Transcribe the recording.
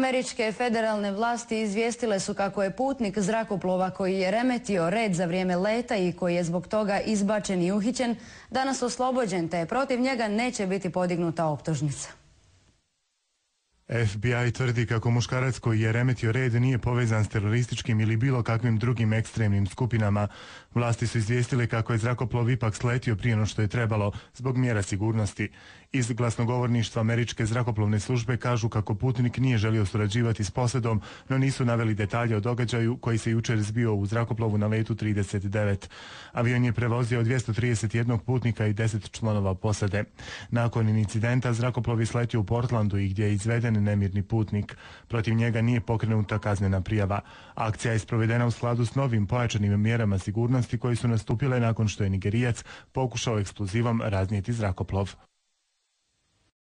Američke federalne vlasti izvijestile su kako je putnik zrakoplova koji je remetio red za vrijeme leta i koji je zbog toga izbačen i uhićen danas oslobođen, te protiv njega neće biti podignuta optužnica. FBI tvrdi kako muškarac koji je remetio red nije povezan s terorističkim ili bilo kakvim drugim ekstremnim skupinama. Vlasti su izvijestile kako je zrakoplov ipak sletio prije no što je trebalo zbog mjera sigurnosti. Iz glasnogovorništva američke zrakoplovne službe kažu kako putnik nije želio surađivati s posredom, no nisu naveli detalje o događaju koji se jučer zbio u zrakoplovu na letu 39. Avion je prevozio 231 putnika i 10 članova posade. Nakon incidenta zrakoplov je sletio u Portlandu i gdje je izveden nemirni putnik. Protiv njega nije pokrenuta kaznena prijava. Akcija je sprovedena u skladu s novim pojačanim mjerama sigurnosti koji su nastupile nakon što je Nigerijac pokušao eksplozivom raznijeti zrakoplov.